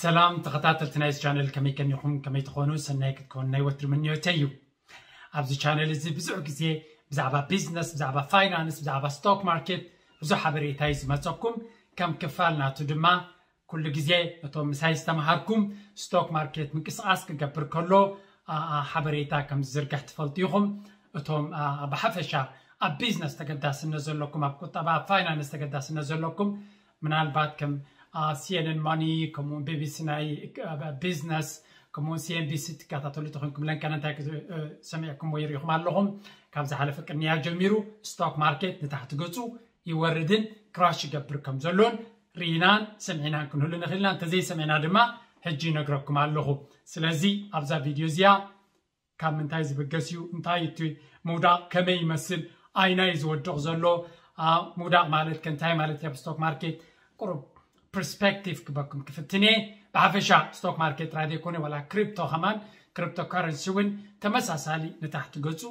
ሰላም ተኸታተልቲ ናይዚ ቻነል፣ ከመይ ከኒኹም? ከመይ ትኾኑ? ሰናይ ክትኮኑ ናይ ወትሪ ምንዮተይ እዩ። ኣብዚ ቻነል እዚ ብዙሕ ግዜ ብዛዕባ ቢዝነስ፣ ብዛዕባ ፋይናንስ፣ ብዛዕባ ስቶክ ማርኬት ብዙሕ ሓበሬታ እዩ ዝመፀኩም። ከም ክፋል ናቱ ድማ ኩሉ ግዜ እቶም ምሳይ ዝተምሃርኩም ስቶክ ማርኬት ምንቅስቃስ ክገብር ከሎ ሓበሬታ ከም ዝዝርግሕ ትፈልጡ ኢኹም። እቶም ብሓፈሻ ኣብ ቢዝነስ ተገዳስነት ዘለኩም፣ ኣብ ቁጠባ፣ ኣብ ፋይናንስ ተገዳስነት ዘለኩም፣ ምናልባት ከም ሲኤንኤን ማኒ፣ ከምኡውን ቢቢሲ ናይ ቢዝነስ፣ ከምኡውን ሲኤንቢሲ ትከታተሉ ተኾንኩም፣ ለንከነ እንታይ ሰሚዕኩም ወይ ርኢኹም ኣለኹም? ካብ ዝሓለፈ ቅንያ ጀሚሩ ስቶክ ማርኬት ንታሕቲ ገፁ ይወርድን ክራሽ ይገብር ከም ዘሎን ርኢናን ሰሚዕናን ክንህሉ ንኽእል ኢና። እንተዘይሰሚዕና ድማ ሕጂ ይነግረኩም ኣለኹ። ስለዚ ኣብዛ ቪድዮ እዚኣ ካብ ምንታይ ዝብገስ እዩ፣ እንታይ እቲ ምውዳቕ ከመይ ይመስል፣ ኣይናይ ዝወድቕ ዘሎ ምውዳቕ ማለት ከ እንታይ ማለት እዩ ኣብ ስቶክ ማርኬት? ቁሩብ ፐርስፔክቲቭ ክበኩም ክፍትን እየ። ብሓፈሻ ስቶክ ማርኬት ጥራይ ዘይኮነ ዋላ ክሪፕቶ ከማን፣ ክሪፕቶ ካረንሲ እውን ተመሳሳሊ ንታሕቲ ገፁ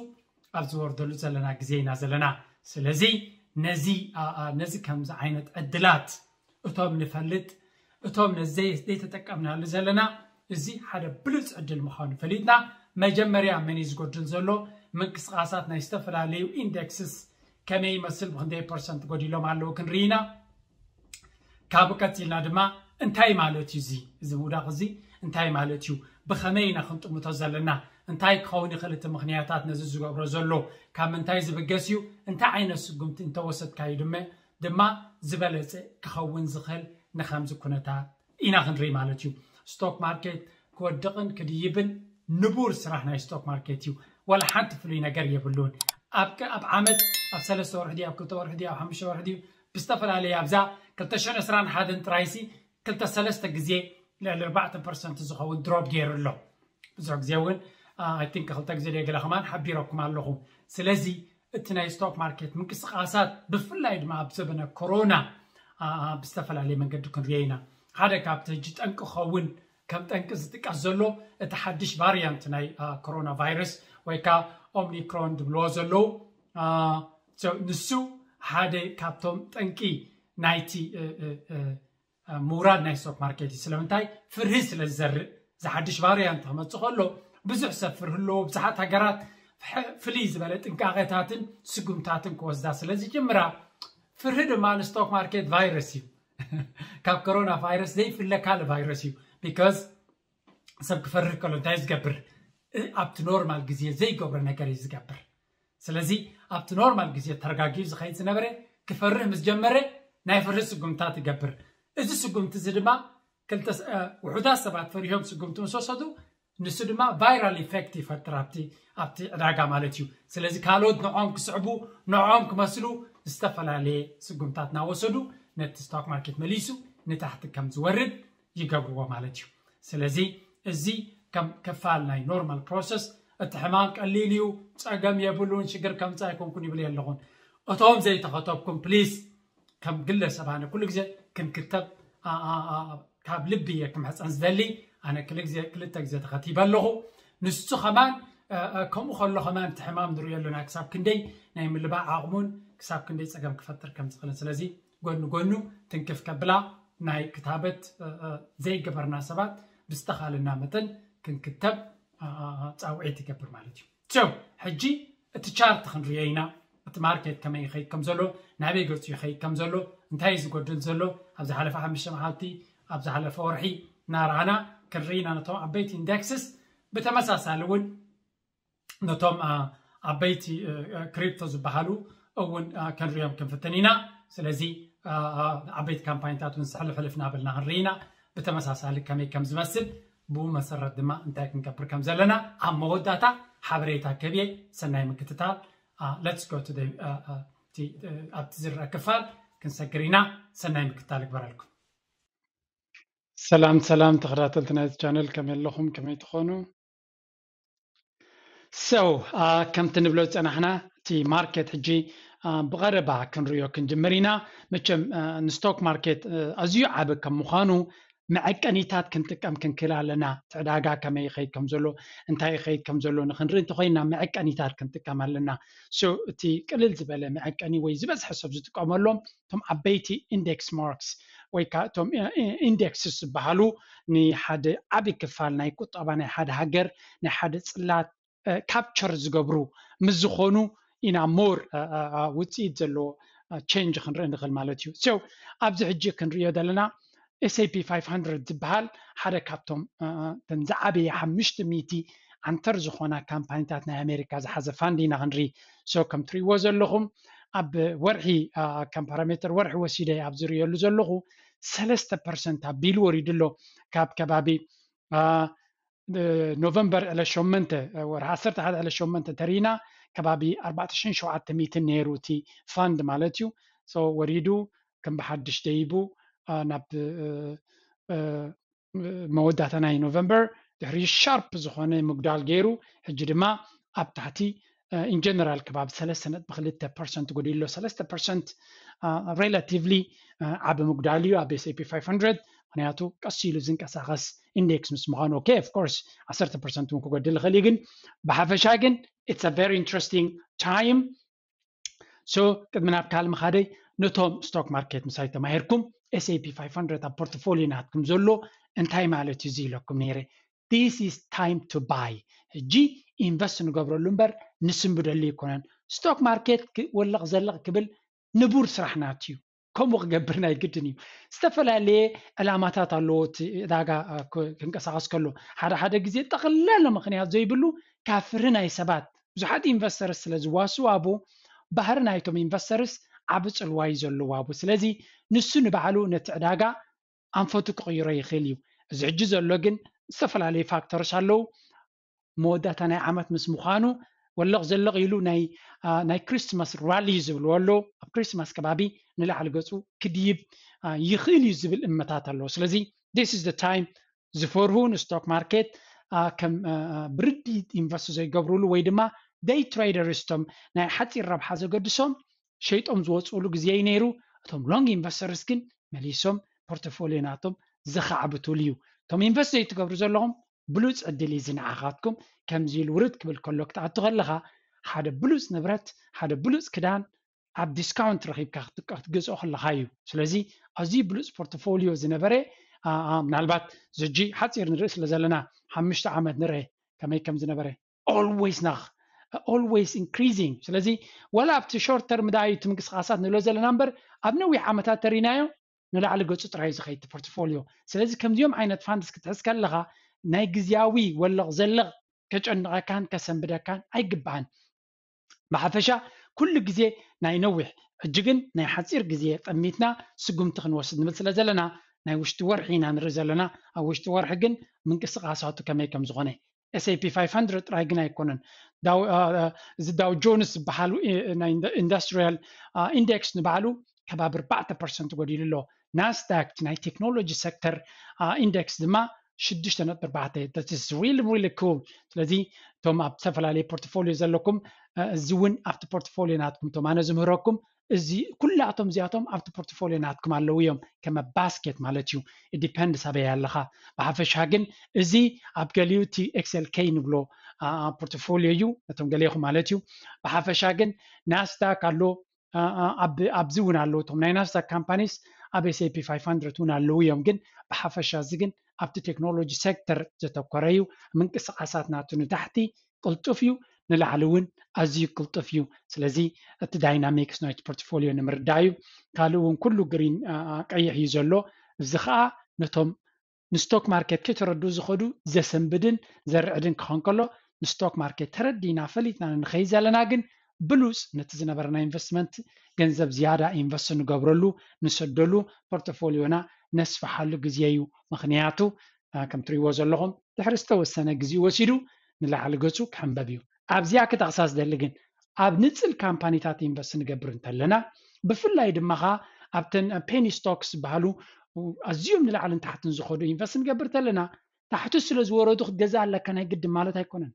ኣብ ዝወርደሉ ዘለና ግዜ ኢና ዘለና። ስለዚ ነዚ ነዚ ከምዚ ዓይነት ዕድላት እቶም ንፈልጥ እቶም ነዚ ዘይተጠቀምናሉ ዘለና፣ እዚ ሓደ ብሉፅ ዕድል ምዃኑ ፈሊጥና፣ መጀመርያ መን እዩ ዝጎድል ዘሎ፣ ምንቅስቃሳት ናይ ዝተፈላለዩ ኢንደክስስ ከመይ ይመስል፣ ብክንደይ ፐርሰንት ጎዲሎም ኣለዉ ክንርኢ ኢና። ካብኡ ቀፂልና ድማ እንታይ ማለት እዩ እዚ እዚ ምውዳቕ እዚ እንታይ ማለት እዩ፣ ብኸመይ ኢና ክንጥምቶ ዘለና፣ እንታይ ክኸውን ይኽእል እቲ ምኽንያታት ነዚ ዝገብሮ ዘሎ፣ ካብ ምንታይ ዝብገስ እዩ፣ እንታይ ዓይነት ስጉምቲ እንተወሰድካዩ ድማ ዝበለፀ ክኸውን ዝኽእል ንከምዚ ኩነታት ኢና ክንርኢ ማለት እዩ። ስቶክ ማርኬት ክወድቕን ክድይብን ንቡር ስራሕ ናይ ስቶክ ማርኬት እዩ። ዋላ ሓንቲ ፍሉይ ነገር የብሉን። ኣብ ዓመት ኣብ ሰለስተ ወርሒ ድዩ ኣብ ክልተ ወርሒ ድዩ ኣብ ሓሙሽተ ወርሒ ድዩ ብዝተፈላለየ ኣብዛ ክልተ ሽሕን ዕስራን ሓደን ጥራይሲ ክልተ ሰለስተ ግዜ ልዕሊ ኣርባዕተ ፐርሰንት ዝኸውን ድሮፕ ገይሩ ኣሎ። ብዙሕ ግዜ እውን ኣይ ቲንክ ክልተ ግዜ ደገለ ከማን ሓቢረኩም ኣለኹ። ስለዚ እቲ ናይ ስቶክ ማርኬት ምንቅስቃሳት ብፍላይ ድማ ኣብ ዘበነ ኮሮና ብዝተፈላለየ መንገዲ ክንሪኦ ኢና። ሓደ ካብቲ ሕጂ ጠንቂ ክኸውን ከም ጠንቂ ዝጥቀስ ዘሎ እቲ ሓድሽ ቫሪያንት ናይ ኮሮና ቫይረስ ወይ ከዓ ኦምኒክሮን ዝብልዎ ዘለዉ፣ ንሱ ሓደ ካብቶም ጠንቂ ናይቲ ምውራድ ናይ ስቶክ ማርኬት እዩ። ስለምንታይ? ፍርሂ ስለ ዝዘርእ። ዝሓድሽ ቫሪያንት ክመፅእ ከሎ ብዙሕ ሰብ ፍርሂ ኣለዎ። ብዙሓት ሃገራት ፍልይ ዝበለ ጥንቃቄታትን ስጉምታትን ክወስዳ ስለ ዝጅምራ፣ ፍርሂ ድማ ንስቶክ ማርኬት ቫይረስ እዩ። ካብ ኮሮና ቫይረስ ዘይፍለ ካልእ ቫይረስ እዩ። ቢካዝ ሰብ ክፈርህ ከሎ እንታይ ዝገብር? ኣብቲ ኖርማል ግዜ ዘይገብሮ ነገር እዩ ዝገብር። ስለዚ ኣብቲ ኖርማል ግዜ ተረጋጊኡ ዝኸይድ ዝነበረ ክፈርህ ምስ ጀመረ ናይ ፍርሂ ስጉምታት ይገብር። እዚ ስጉምቲ እዚ ድማ ውሑዳት ሰባት ፈሪሆም ስጉምቲ ምስ ወሰዱ ንሱ ድማ ቫይራል ኢፌክት ይፈጥር ኣብቲ ኣብቲ ዕዳጋ ማለት እዩ። ስለዚ ካልኦት ንዖም ክስዕቡ ንዖም ክመስሉ ዝተፈላለየ ስጉምታት እናወሰዱ ነቲ ስቶክ ማርኬት መሊሱ ንታሕቲ ከም ዝወርድ ይገብርዎ ማለት እዩ። ስለዚ እዚ ከም ክፋል ናይ ኖርማል ፕሮሰስ፣ እቲ ሕማም ቀሊል እዩ፣ ፀገም የብሉን፣ ሽግር ከምፃ ኣይኮንኩን ይብል የለኹን። እቶም ዘይተኸተብኩም ፕሊስ ከም ግለሰብ ኣነ ኩሉ ግዜ ክንክተብ ካብ ልቢ እየ ክምሕፀን ዝደሊ። ኣነ ክልተ ግዜ ተኸቲበ ኣለኹ። ንሱ ከማን ከምኡ ከሎ ከማን እቲ ሕማም ንሪኦ ኣለና ክሳብ ክንደይ ናይ ምልባዕ ዓቕሙን ክሳብ ክንደይ ፀገም ክፈጥር ከም ዝኽእልን። ስለዚ ጎኒ ጎኑ ትንክፍ ከብላ ናይ ክታበት ዘይገበርና ሰባት ብዝተኻልና መጠን ክንክተብ ፃውዒት ይገብር ማለት እዩ። ሕጂ እቲ ቻርት ክንሪኦ ኢና። እቲ ማርኬት ከመይ ይኸይድ ከም ዘሎ፣ ናበይ ገፁ ይኸይድ ከም ዘሎ፣ እንታይ እዩ ዝጎድል ዘሎ፣ ኣብ ዝሓለፈ ሓሙሽተ መዓልቲ፣ ኣብ ዝሓለፈ ወርሒ እናረኣና ክንርኢ ኢና። ነቶም ዓበይቲ ኢንደክስስ ብተመሳሳሊ እውን ነቶም ዓበይቲ ክሪፕቶ ዝበሃሉ እውን ክንሪኦም ክንፍትን ኢና። ስለዚ ዓበይቲ ካምፓኒታት እውን ሕልፍ ሕልፍ እናበልና ክንርኢ ኢና። ብተመሳሳሊ ከመይ ከም ዝመስል ብኡ መሰረት ድማ እንታይ ክንገብር ከም ዘለና ኣብ መወዳእታ ሓበሬታ ከብየ። ሰናይ ምክትታል። Let's go to the ኣብቲ ዝረአ ክፋል ክንሰግር ኢና። ሰናይ ምክትታል ይግበረልኩም። ሰላም ሰላም ተኸታተልቲ ናይዚ ቻነል ከመይ ኣለኹም? ከመይ ትኾኑ? So ከምቲ ንብሎ ዝፀናሕና እቲ ማርኬት ሕጂ ብቐረባ ክንሪኦ ክንጅምር ኢና። መቸም ንስቶክ ማርኬት ኣዝዩ ዓቢ ከም ምዃኑ መዐቀኒታት ክንጥቀም ክንክእል ኣለና። እቲ ዕዳጋ ከመይ ይኸይድ ከም ዘሎ እንታይ ይኸይድ ከም ዘሎ ንክንርኢ እንተኮይና መዐቀኒታት ክንጥቀም ኣለና። So እቲ ቅልል ዝበለ መዐቀኒ ወይ ዝበዝሐ ሰብ ዝጥቀመሎም እቶም ዓበይቲ ኢንዴክስ ማርክስ ወይ ከዓ እቶም ኢንዴክስስ ዝበሃሉ ንሓደ ዓቢ ክፋል ናይ ቁጠባ ናይ ሓደ ሃገር ናይ ሓደ ጽላት ካፕቸር ዝገብሩ ምስ ዝኾኑ ኢና ሞር ውፅኢት ዘለዎ ቸንጅ ክንርኢ ንኽእል ማለት እዩ። So ኣብዚ ሕጂ ክንሪኦ ዘለና S&P five hundred ዝበሃል ሓደ ካብቶም እተን ዝዓበየ ሓሙሽተ ሚእቲ ዓንተር ዝኾና ካምፓኒታት ናይ ኣሜሪካ ዝሓዘ ፋንድ ኢና ክንርኢ። So ከም ትሪእዎ ዘለኹም ኣብ ወርሒ ከም ፓራሜተር ወርሒ ወሲደ ኣብ ዝርእየሉ ዘለኹ ሰለስተ ፐርሰንት ኣቢሉ ወሪዱ ኣሎ። ካብ ከባቢ ኖቨምበር ዕለት ሸሞንተ ወርሒ ዓሰርተ ሓደ ዕለት ሸሞንተ ተሪና ከባቢ ኣርባዕተ ሽሕን ሸውዓተ ሚእትን ነይሩ እቲ ፋንድ ማለት እዩ። So ወሪዱ ከም ብሓድሽ ደይቡ ናብ መወዳእታ ናይ ኖቨምበር ድሕሪ ሻርፕ ዝኾነ ምጉዳል ገይሩ ሕጂ ድማ ኣብ ታሕቲ ኢን ጀነራል ከባቢ ሰለስተ ነጥቢ ክልተ ፐርሰንት ጎዲሉ ኣሎ። ሰለስተ ፐርሰንት ሬላቲቭሊ ዓቢ ምጉዳል እዩ ኣብ S&P five hundred፣ ምክንያቱ ቀስ ኢሉ ዝንቀሳቐስ ኢንዴክስ ምስ ምዃኑ። ኦኬ፣ ኦፍ ኮርስ ዓሰርተ ፐርሰንት እውን ክጎድል ይኽእል እዩ፣ ግን ብሓፈሻ ግን it's a very interesting time። So ቅድሚ ናብ ካልእ ምኻደይ ነቶም ስቶክ ማርኬት ምሳይ ተማሂርኩም S&P five hundred ኣብ ፖርትፎሊዮ ናትኩም ዘሎ እንታይ ማለት እዩ እዚ ኢለኩም ነይረ። This is time to buy። ሕጂ ኢንቨስት ንገብረሉ እምበር ንስንብደሉ ኣይኮነን። ስቶክ ማርኬት ወለቕ ዘለቕ ክብል ንቡር ስራሕ ናት እዩ። ከምኡ ክገብር ናይ ግድን እዩ። ዝተፈላለየ ዕላማታት ኣለዎ እቲ ዕዳጋ ክንቀሳቐስ ከሎ። ሓደ ሓደ ግዜ ጠቕላላ ምኽንያት ዘይብሉ ካብ ፍርሂ ናይ ሰባት ብዙሓት ኢንቨስተርስ ስለ ዝዋስኡ ኣብኡ ባህሪ ናይቶም ኢንቨስተርስ ዓቢ ጽልዋ እዩ ዘለዎ ኣብኡ። ስለዚ ንሱ ንባዕሉ ነቲ ዕዳጋ ኣንፈቱ ክቕይሮ ይኽእል እዩ። እዚ ሕጂ ዘሎ ግን ዝተፈላለዩ ፋክተርስ ኣለዉ። መወዳእታ ናይ ዓመት ምስ ምዃኑ ወለቕ ዘለቕ ኢሉ ናይ ናይ ክሪስማስ ራሊ ዝብልዎ ኣሎ። ኣብ ክሪስማስ ከባቢ ንላዕሊ ገጹ ክድይብ ይኽእል እዩ ዝብል እምነታት ኣለዎ። ስለዚ this is the time ዝፈርሁ ንስቶክ ማርኬት ከም ብርዲ ኢንቨስት ዘይገብሩሉ ወይ ድማ ደይ ትሬደርስ ቶም ናይ ሓፂር ረብሓ ዘገድሶም ሸይጦም ዝወፅእሉ ግዜ እዩ ነይሩ። እቶም ሎንግ ኢንቨስተርስ ግን መሊሶም ፖርትፎሊዮ ናቶም ዘኻዕብትሉ እዩ። እቶም ኢንቨስት ዘይትገብሩ ዘለኹም ብሉፅ ዕድል እዩ እዚ ንዓኻትኩም። ከምዚ ኢሉ ውርድ ክብል ከሎ ክትኣቱ ከለኻ ሓደ ብሉፅ ንብረት ሓደ ብሉፅ ክዳን ኣብ ዲስካውንት ረኺብካ ክትገዝኦ ከለኻ እዩ። ስለዚ ኣዝዩ ብሉፅ ፖርትፎሊዮ ዝነበረ ምናልባት ዝጂ ሓፂር ንርኢ ስለ ዘለና ሓሙሽተ ዓመት ንርኢ ከመይ ከም ዝነበረ always ናኽ always increasing። ስለዚ ወላ ኣብቲ ሾርት ተርም ዳዩ እቲ ምንቅስቃሳት ንብሎ ዘለና እምበር ኣብ ነዊሕ ዓመታት ተሪናዮ ንላዕሊ ገፁ ጥራይ ዝኸይድ ፖርትፎሊዮ። ስለዚ ከምዚኦም ዓይነት ፋንድስ ክትሕዝ ከለኻ ናይ ግዝያዊ ወለቕ ዘለቕ ከጨንቐካን ከሰንብደካን ኣይግባኣን። ብሓፈሻ ኩሉ ግዜ ናይ ነዊሕ ሕጂ ግን ናይ ሓፂር ግዜ ጠሚትና ስጉምቲ ክንወስድ ንብል ስለ ዘለና ናይ ውሽጢ ወርሒ ኢና ንርኢ ዘለና። ኣብ ውሽጢ ወርሒ ግን ምንቅስቃሳቱ ከመይ ከም ዝኾነ S&P five hundred ጥራይ ግን ኣይኮነን። እዚ ዳው ጆንስ ዝበሃል ኢንዱስትሪያል ኢንዴክስ ንባዕሉ ከባቢ ኣርባዕተ ፐርሰንት ጎዲሉ ኣሎ። ናስዳክ ናይ ቴክኖሎጂ ሴክተር ኢንዴክስ ድማ ሽዱሽተ ነጥቢ ኣርባዕተ። Really really cool። ስለዚ እቶም ኣብ ዝተፈላለዩ ፖርትፎሊዮ ዘለኩም እዚ እውን ኣብቲ ፖርትፎሊዮ ናትኩም እቶም ኣነ ዝምህረኩም እዚ ኩላቶም እዚኣቶም ኣብቲ ፖርትፎሊዮ ናትኩም ኣለዉ እዮም። ከመ ባስኬት ማለት እዩ። ዲፐንድ ሳበይ ኣለኻ። ብሓፈሻ ግን እዚ ኣብ ገሊኡ እቲ ኤክስኤልኬ ንብሎ ፖርትፎሊዮ እዩ ነቶም ገሌኹም ማለት እዩ። ብሓፈሻ ግን ናስዳክ ኣሎ ኣብዚ እውን ኣለዉ እቶም ናይ ናስዳክ ካምፓኒስ ኣብ S&P five hundred እውን ኣለዉ እዮም። ግን ብሓፈሻ እዚ ግን ኣብቲ ቴክኖሎጂ ሴክተር ዘተኮረ እዩ። ምንቅስቃሳት ናቱ ንታሕቲ ቅልጡፍ እዩ፣ ንላዕሊ እውን ኣዝዩ ቅልጡፍ እዩ። ስለዚ እቲ ዳይናሚክስ ናይቲ ፖርትፎሊዮ ንምርዳእ እዩ። ካልእ እውን ኩሉ ግሪን ቀይሕ እዩ ዘሎ። እዚ ከዓ ነቶም ንስቶክ ማርኬት ከይተረድኡ ዝኸዱ ዘሰንብድን ዘርዕድን ክኸውን ከሎ ንስቶክ ማርኬት ተረዲና ፈሊጥና ንኸይ ዘለና ግን ብሉፅ ነቲ ዝነበረና ኢንቨስትመንት ገንዘብ ዝያዳ ኢንቨስት ንገብረሉ ንሰደሉ ፖርትፎሊዮና ነስፍሓሉ ግዜ እዩ። ምክንያቱ ከም ትሪእዎ ዘለኹም ድሕሪ ዝተወሰነ ግዜ ወሲዱ ንላዕሊ ገፁ ክሕንበብ እዩ። ኣብዚኣ ክጠቕሳ ዝደሊ ግን ኣብ ንፅል ካምፓኒታት ኢንቨስት ንገብር እንተለና ብፍላይ ድማ ኸዓ ኣብተን ፔኒ ስቶክስ ዝበሃሉ ኣዝዮም ንላዕልን ታሕትን ዝኸዱ ኢንቨስት ንገብር እንተለና ታሕቲ ስለ ዝወረዱ ክትገዝእ ኣለካ ናይ ግድን ማለት ኣይኮነን።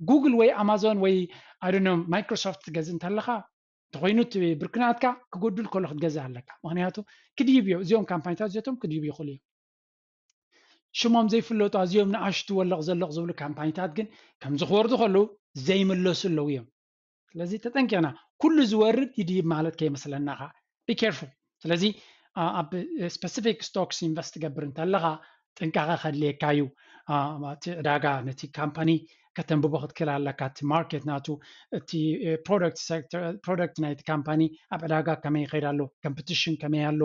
ጉግል ወይ ኣማዞን ወይ ኣይዶኖ ማይክሮሶፍት ትገዝእ እንተለኻ እንተኮይኑ እቲ ብርክናትካ ክጎድል ከሎ ክትገዝእ ኣለካ። ምክንያቱ ክድይብ እዮ እዚኦም ካምፓኒታት እዚቶም ክድይቡ ይኽእሉ እዮም። ሽሞም ዘይፍለጡ ኣዝዮም ንኣሽቱ ወለቕ ዘለቕ ዝብሉ ካምፓኒታት ግን ከምዚ ክወርዱ ከለዉ ዘይምለሱ ኣለዉ እዮም። ስለዚ ተጠንቂቕና ኩሉ ዝወርድ ይድይብ ማለት ከይመስለና ከዓ be careful። ስለዚ ኣብ specific stocks invest ትገብር እንተለኻ ጥንቃቐ ከድልየካ እዩ። እቲ ዕዳጋ ነቲ ካምፓኒ ከተንብቦ ክትክእል ኣለካ። እቲ ማርኬት ናቱ፣ እቲ product sector፣ product ናይቲ ካምፓኒ ኣብ ዕዳጋ ከመይ ይኸይድ ኣሎ፣ competition ከመይ ኣሎ፣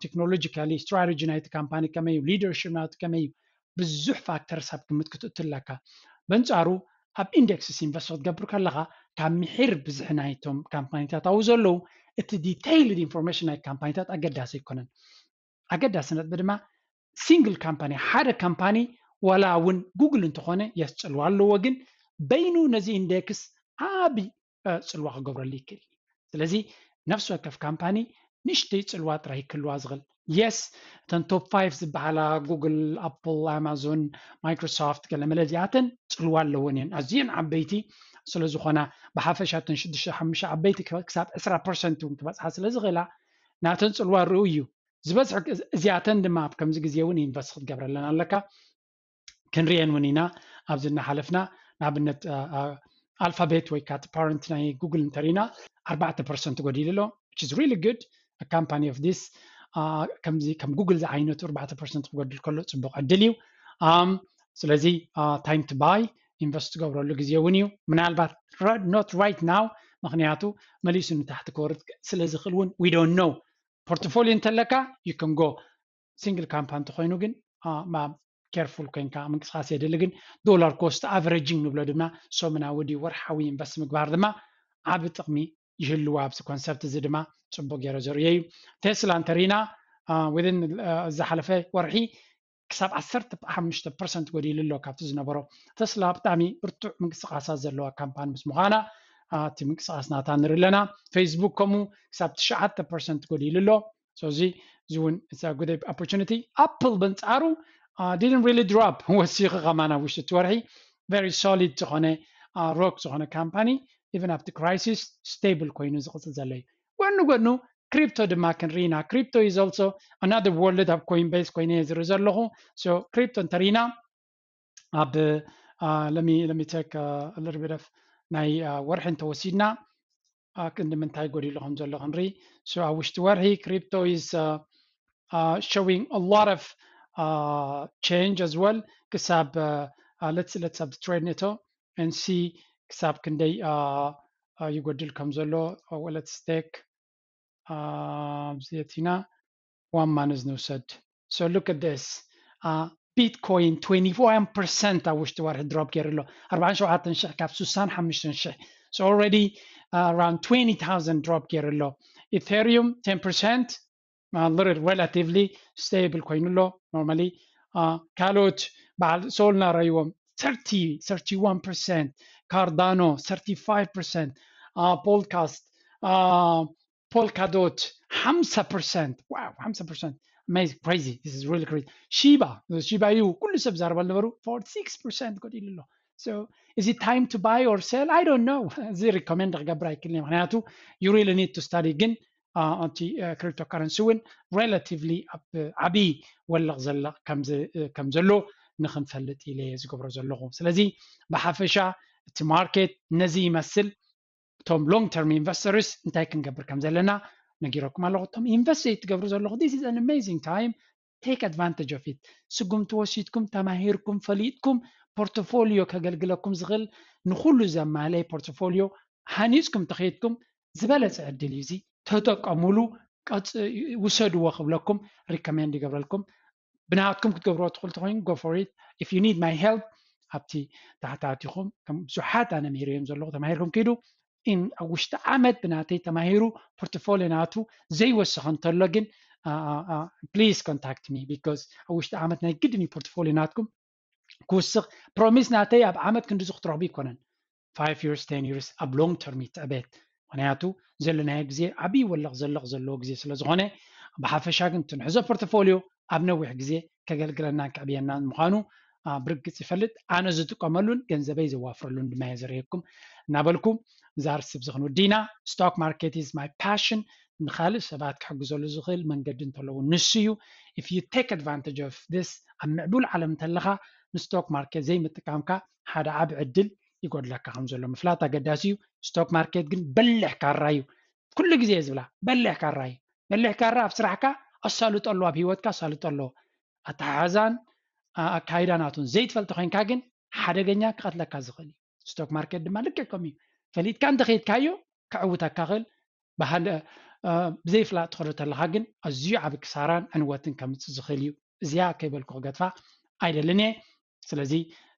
technologically strategy ናይቲ ካምፓኒ ከመይ እዩ፣ leadership ናቱ ከመይ እዩ፣ ብዙሕ factors ኣብ ግምት ክትእቱ ኣለካ። በንጻሩ ኣብ index invest ክትገብር ከለኻ ካብ ምሒር ብዝሒ ናይቶም ካምፓኒታት ኣብኡ ዘለዉ እቲ detailed information ናይ ካምፓኒታት ኣገዳሲ ኣይኮነን። ኣገዳሲ ነጥቢ ድማ single company፣ ሓደ ካምፓኒ ዋላ እውን ጉግል እንተኾነ የስጽልዋ ኣለዎ፣ ግን በይኑ ነዚ index ዓቢ ጽልዋ ክገብረሉ ይክእል። ስለዚ ነፍሲ ወከፍ ካምፓኒ ንእሽተይ ጽልዋ ጥራይ ክህልዋ ዝኽእል። Yes፣ እተን top five ዝበሃላ ጉግል፣ ኣፕል፣ ኣማዞን፣ ማይክሮሶፍት፣ ገለመለ እዚኣተን ጽልዋ ኣለወን እየን። ኣዝየን ዓበይቲ ስለ ዝኾና ብሓፈሻ እተን ሽዱሽተ ሓሙሽተ ዓበይቲ ክሳብ ዕስራ ፐርሰንት እውን ክበጽሓ ስለ ዝኽእላ ናተን ጽልዋ ርኡ እዩ። ዝበዝሕ እዚኣተን ድማ ኣብ ከምዚ ግዜ እውን invest ክትገብረለን ኣለካ። ክንሪአን እውን ኢና ኣብዚ እናሓለፍና። ንኣብነት ኣልፋቤት ወይ ካቲ ፓረንት ናይ ጉግል እንተሪና ኣርባዕተ ፐርሰንት ጎዲሉ ኣሎ። Which is really good። Company of this ከምዚ ከም ጉግል ዝዓይነቱ ኣርባዕተ ፐርሰንት ክጎድል ከሎ ፅቡቅ ዕድል እዩ። ስለዚ time to buy፣ invest ትገብረሉ ግዜ እውን እዩ። ምናልባት not right now፣ ምክንያቱ መሊሱ ንታሕቲ ክወርድ ስለ ዝኽእል እውን we don't know። ፖርትፎሊዮ እንተለካ you can go። ሲንግል ካምፓኒ እንተኮይኑ ግን careful ኮይንካ ምንቅስቃስ የድሊ። ግን ዶላር ኮስት ኣቨሬጂንግ ንብሎ ድማ ሰሙናዊ ድዩ ወርሓዊ ኢንቨስት ምግባር ድማ ዓቢ ጥቕሚ ይህልዎ። ኣብዚ ኮንሰፕት እዚ ድማ ጽቡቅ ገይረ ዘርእዮ እዩ። ቴስላ እንተሪና within ዝሓለፈ ወርሒ ክሳብ ዓሰርተ ሓሙሽተ ፐርሰንት ጎዲሉ ኣሎ ካብቲ ዝነበሮ። ተስላ ብጣዕሚ ብርቱዕ ምንቅስቃሳት ዘለዋ ካምፓኒ ምስ ምዃና እቲ ምንቅስቃስ ናታ ንርኢ ኣለና። ፌስቡክ ከምኡ ክሳብ ትሽዓተ ፐርሰንት ጎዲሉ ኣሎ። So እዚ እዚ እውን it's a good opportunity። ኣፕል በንጻሩ didn't really drop፣ ወሲኹ ከማን ኣብ ውሽጢ እቲ ወርሒ very solid ዝኾነ ሮክ ዝኾነ ካምፓኒ even ኣብቲ ክራይሲስ ስቴብል ኮይኑ ዝቕጽል ዘሎ እዩ። ጎኑ ጎኑ ክሪፕቶ ድማ ክንርኢና። Crypto is also another world ኣብ ኮይንቤስ ኮይነ ዝርኢ ዘለኹ። So ክሪፕቶ እንተርኢና ኣብ let me let me take a little bit of ናይ ወርሒ እንተወሲድና ክንዲ ምንታይ ጎዲሉ ከም ዘሎ ክንርኢ። So ኣብ ውሽጢ ወርሒ crypto is showing a lot of change as well። ክሳብ let's let's ኣብ ትሬድ ነቶ and see ክሳብ ክንደይ ይጎድል ከም ዘሎ። Let's take ኣብዚ ኣቲና one month ንውሰድ። So look at this. Bitcoin twenty-one percent ኣብ ውሽጢ ወርሒ ድሮፕ ገይሩ ኣሎ። ኣርባዓን ሸውዓተን ሽሕ ካብ ስሳን ሓሙሽተን ሽሕ። So already around twenty thousand ድሮፕ ገይሩ ኣሎ። ኢቴሪዩም ten percent relatively stable ኮይኑ ኣሎ። Normally ካልኦት በዓል ሶልና ረይዎም thirty thirty-one percent፣ ካርዳኖ thirty-five percent፣ ፖልካስት ፖልካዶት ሓምሳ ፐርሰንት። Wow፣ ሓምሳ ፐርሰንት። Amazing፣ crazy። This is really crazy። ሺባ ሺባ እዩ ኩሉ ሰብ ዛረበሉ ነበሩ። Forty-six percent ጎዲሉ ኣሎ። So is it time to buy or sell? I don't know። እዚ ሪኮመንድ ክገብር ኣይክልኒ፣ ምክንያቱ you really need to study። ግን እቲ ክሪፕቶ ካረንሲ እውን relatively ኣብ ዓብዪ ወለቕ ዘለቕ ከም ዘሎ ንክንፈልጥ ኢለ ዝገብሮ ዘለኹ። ስለዚ ብሓፈሻ እቲ ማርኬት ነዚ ይመስል። እቶም long term investors እንታይ ክንገብር ከም ዘለና ነጊረኩም ኣለኹ። እቶም ኢንቨስት ዘይትገብሩ ዘለኹ this is an amazing time፣ take advantage of it። ስጉምቲ ወሲድኩም ተማሂርኩም ፈሊጥኩም ፖርትፎሊዮ ከገልግለኩም ዝኽእል ንኩሉ ዘማለየ ፖርትፎሊዮ ሃኒፅኩም ተኸይድኩም ዝበለፀ ዕድል እዩ። እዚ ተጠቀሙሉ፣ ውሰድዎ ክብለኩም ሪኮሜንድ ይገብረልኩም። ብናትኩም ክትገብርዎ ትኽእሉ ተኮይኑ go for it። If you need my help ኣብቲ ታሕቲ ኣቲኹም ከም ብዙሓት ኣነ ምሂረዮም ዘለኹ ተማሂርኩም ኪዱ። ኣብ ውሽጢ ዓመት ብናተይ ተማሂሩ ፖርትፎሊዮ ናቱ ዘይወሰኸ እንተሎ ግን please contact me because ኣብ ውሽጢ ዓመት ናይ ግድን እዩ ፖርትፎሊዮ ናትኩም ክውስኽ። ፕሮሚስ ናተይ ኣብ ዓመት ክንድዚ ክትረኽቡ ኣይኮነን። Five years፣ ten years ኣብ long term ይትዕበት። ምክንያቱ ዘለናዮ ግዜ ዓብዪ ወለቕ ዘለቕ ዘለዎ ግዜ ስለ ዝኾነ ብሓፈሻ ግን ትንሕዞ ፖርትፎሊዮ ኣብ ነዊሕ ግዜ ከገልግለናን ከዕብየናን ምዃኑ ብርግፅ ይፈልጥ። ኣነ ዝጥቀመሉን ገንዘበይ ዘዋፍረሉን ድማ እየ ዘርእየኩም እናበልኩ እዛ ርሲ ብዚ ክንውዲ ኢና። Stock market is my passion። ንካልእ ሰባት ክሕግዘሉ ዝኽእል መንገዲ እንተለዉ ንሱ እዩ። If you take advantage of this፣ ኣብ ምዕቡል ዓለም እንተለኻ ንስቶክ ማርኬት ዘይምጥቃምካ ሓደ ዓቢ ዕድል ይጎድለካ ከም ዘሎ ምፍላጥ ኣገዳሲ እዩ። ስቶክ ማርኬት ግን በሊሕ ካራ እዩ። ኩሉ ግዜ እየ ዝብላ በሊሕ ካራ እዩ። መሊሕካ ራ ኣብ ስራሕካ ኣሳልጦ ኣሎ ኣብ ሂወትካ ኣሳልጦ ኣሎ ኣተሓሕዛን ኣካይዳ ናቱን ዘይትፈልጥ ኮይንካ ግን ሓደገኛ ክቐትለካ ዝኽእል እዩ። ስቶክ ማርኬት ድማ ልክዕ ከምኡ እዩ። ፈሊጥካ እንተኸይድካዮ ክዕውተካ ክእል ብዘይፍላጥ ትኸዶ ተለካ ግን ኣዝዩ ዓብ ክሳራን ዕንወትን ከምፅእ ዝኽእል እዩ። እዚኣ ከይበልኩ ክገድፋ ኣይደልን እየ። ስለዚ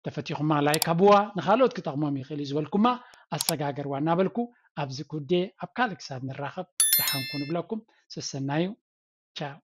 ተፈቲኹማ ላይክ ኣብዋ ንካልኦት ክጠቕሞም ይኽእል እዩ ዝበልኩማ ኣሰጋገርዋ እናበልኩ ኣብዚ ኩዴ ኣብ ካልእ ክሳብ ንራኸብ ደሓንኩ ንብለኩም። ሰሰናዩ። ቻው።